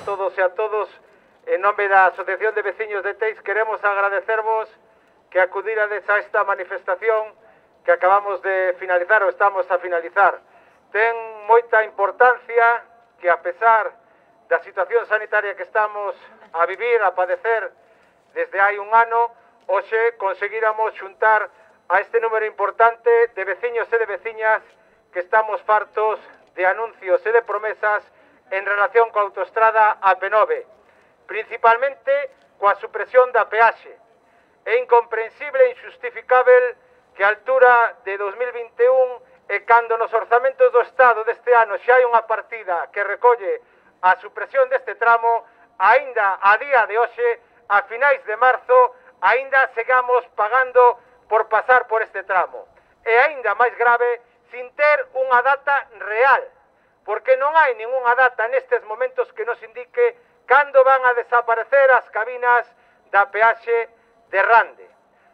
todos e a todos. En nome da Asociación de Veciños de Teis queremos agradecervos que acudirades a esta manifestación que acabamos de finalizar ou estamos a finalizar. Ten moita importancia que a pesar da situación sanitaria que estamos a vivir, a padecer desde hai un ano, hoxe conseguíramos xuntar a este número importante de veciños e de veciñas que estamos fartos de anuncios e de promesas en relación coa autoestrada AP9, principalmente coa supresión da peaxe. É incomprensible e injustificável que a altura de 2021 e cando nos orzamentos do Estado deste ano xa hai unha partida que recolle a supresión deste tramo, aínda a día de hoxe, a finais de marzo, aínda segamos pagando por pasar por este tramo. E aínda máis grave, sin ter unha data real, porque non hai ningunha data nestes momentos que nos indique cando van a desaparecer as cabinas da peaxe de Rande.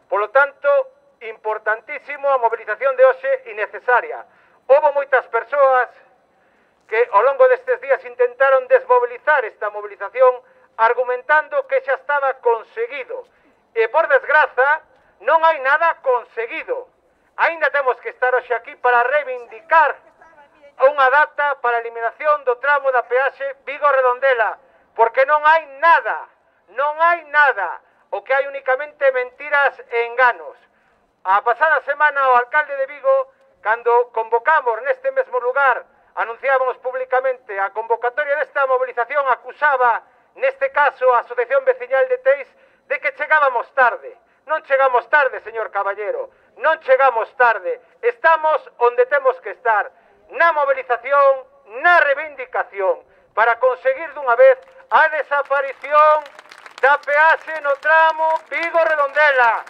Polo tanto, importantísimo a movilización de hoxe innecesaria. Houbo moitas persoas que ao longo destes días intentaron desmobilizar esta movilización argumentando que xa estaba conseguido. E por desgraza, non hai nada conseguido. Aínda temos que estar hoxe aquí para reivindicar unha data para a eliminación do tramo da peaxe Vigo-Redondela, porque non hai nada, non hai nada. O que hai únicamente mentiras e enganos. A pasada semana o alcalde de Vigo, cando convocamos neste mesmo lugar, anunciábamos públicamente a convocatoria desta movilización, acusaba, neste caso, a Asociación Veciñal de Teis, de que chegábamos tarde. Non chegamos tarde, señor Caballero, non chegamos tarde. Estamos onde temos que estar, na movilización, na reivindicación, para conseguir dunha vez a desaparición da peaxe no tramo Vigo-Redondela.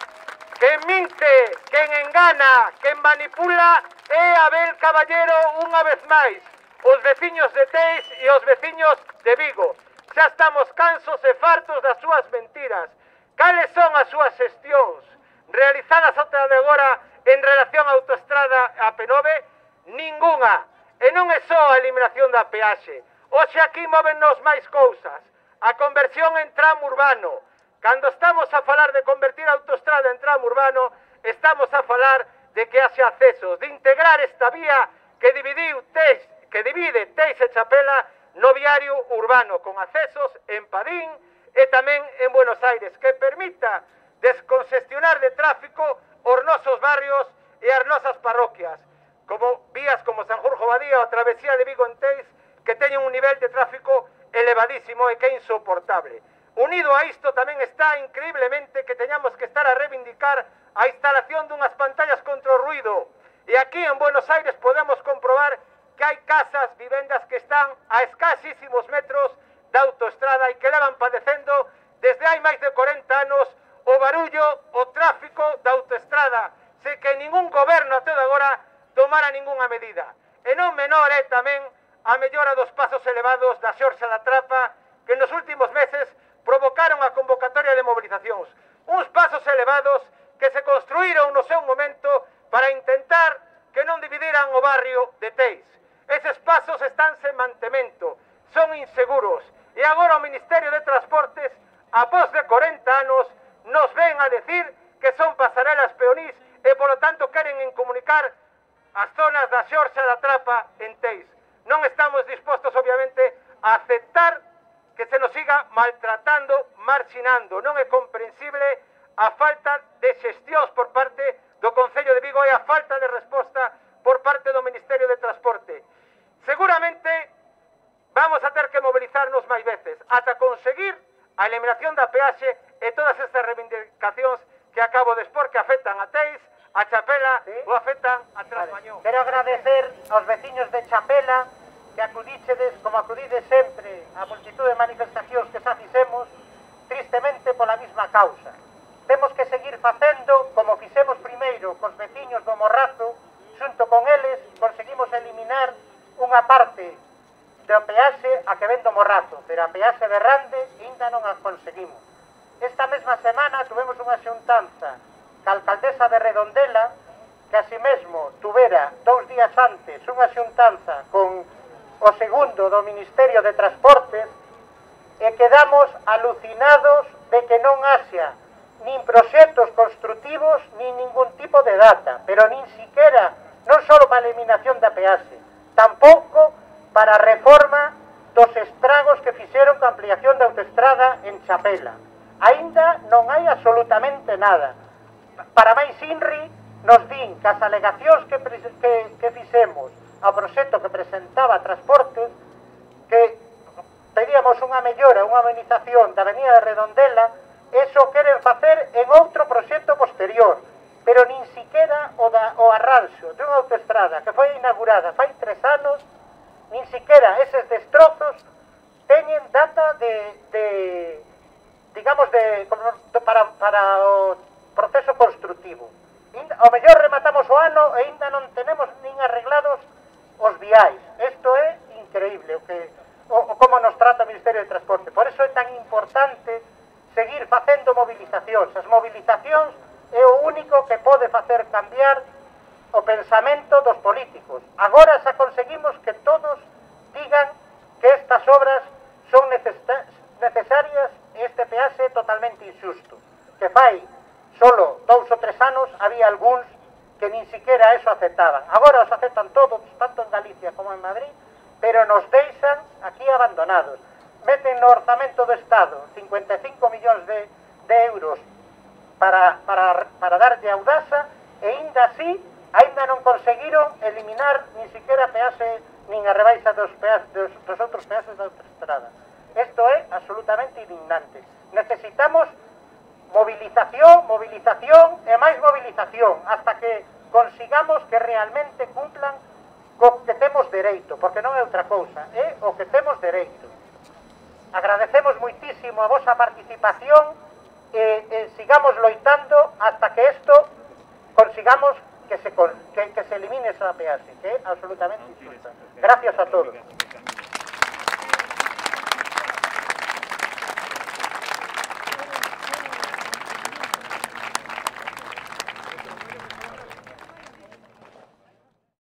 Quen minte, quen engana, quen manipula é Abel Caballero unha vez máis. Os veciños de Teis e os veciños de Vigo. Xa estamos cansos e fartos das súas mentiras. Cales son as súas xestións realizadas ata de agora en relación á autoestrada AP9? Ningunha. E non é só a eliminación da peaxe. Hoxe aquí móvennos máis cousas. A conversión en tramo urbano. Cando estamos a falar de convertir a autoestrada en tramo urbano, estamos a falar de que haxe accesos, de integrar esta vía que divide Teis e Chapela no viario urbano, con accesos en Padín e tamén en Buenos Aires, que permita descongestionar de tráfico os nosos barrios e as nosas parroquias, como vías como Sanjurjo Badía ou a travesía de Vigo en Teis, que teñen un nivel de tráfico elevadísimo e que é insoportable. Unido a isto tamén está increíblemente que teñamos que estar a reivindicar a instalación dunhas pantallas contra o ruido. E aquí en Buenos Aires podemos comprobar que hai casas, vivendas que están a escasísimos metros da autoestrada e que levan padecendo desde hai máis de 40 anos o barullo, o tráfico da autoestrada, se que ningún goberno até agora tomara ningunha medida. E non menor é tamén a mellora dos pasos elevados da Xorxa da Trapa, que nos últimos meses provocaron a convocatoria de movilizacións. Uns pasos elevados que se construíron no seu momento para intentar que non dividiran o barrio de Teis. Eses pasos están sen mantemento, son inseguros, e agora o Ministerio de Transportes, após de 40 anos, nos ven a decir que son pasarelas peonís e, polo tanto, queren incomunicar as zonas da Xorxa da Trapa en Teis. Non estamos dispostos, obviamente, a aceptar que se nos siga maltratando, marxinando. Non é comprensible a falta de xestións por parte do Concello de Vigo e a falta de resposta por parte do Ministerio de Transporte. Seguramente vamos a ter que mobilizarnos máis veces ata conseguir a eliminación da peaxe e todas estas reivindicacións que acabo de expor que afectan a Teis, a Chapela, ¿sí? Ou afectan a Trasmañón. Quero agradecer aos veciños de Chapela que acudichedes, como acudides sempre, a multitud de manifestacións que xa fixemos, tristemente pola mesma causa. Temos que seguir facendo como fixemos primeiro cos veciños do Morrazo, xunto con eles conseguimos eliminar unha parte do peaxe a que ven do Morrazo, pero a peaxe de Rande ainda non a conseguimos. Esta mesma semana tuvemos unha xuntanza ca alcaldesa de Redondela, que así mesmo tuvera 2 días antes unha xuntanza con o segundo do Ministerio de Transportes, e quedamos alucinados de que non haxa nin proxectos constructivos nin ningún tipo de data, pero nin siquiera, non só para a eliminación da peaxe, tampouco para a reforma dos estragos que fixeron coa ampliación da autoestrada en Chapela. Aínda non hai absolutamente nada. Para máis inri, nos din que as alegacións que fixemos ao proxecto que presentaba Transportes, que pedíamos unha mellora, unha amenización da Avenida de Redondela, eso queren facer en outro proxecto posterior, pero nin siquiera o arranxo de unha autoestrada que foi inaugurada fai 3 anos, nin siquiera eses destrozos teñen data para o proceso constructivo. Ao mellor rematamos o ano e ainda non tenemos nin arreglados os viais. Isto é increíble como nos trata o Ministerio de Transporte. Por eso é tan importante seguir facendo movilizacións. As movilizacións é o único que pode facer cambiar o pensamento dos políticos. Agora xa conseguimos que todos digan que estas obras son necesarias e este peaxe é totalmente injusto. Que fai solo 2 ou 3 anos había algúns que nin siquiera eso aceptaban. Agora os aceptan todos, tanto en Galicia como en Madrid, pero nos deixan aquí abandonados. Meten no orzamento do Estado 55 millóns de euros para darlle a Audasa e ainda así ainda non conseguiron eliminar nin siquiera peaxe nin a rebaixa dos outros peaxes da autoestrada. Isto é absolutamente indignante. Necesitamos movilización e máis movilización hasta que consigamos que realmente cumplan co que temos dereito, porque non é outra cousa, é o que temos dereito. Agradecemos moitísimo a vosa participación e sigamos loitando hasta que isto consigamos que se elimine esa peaxe, que é absolutamente injusta. Gracias a todos.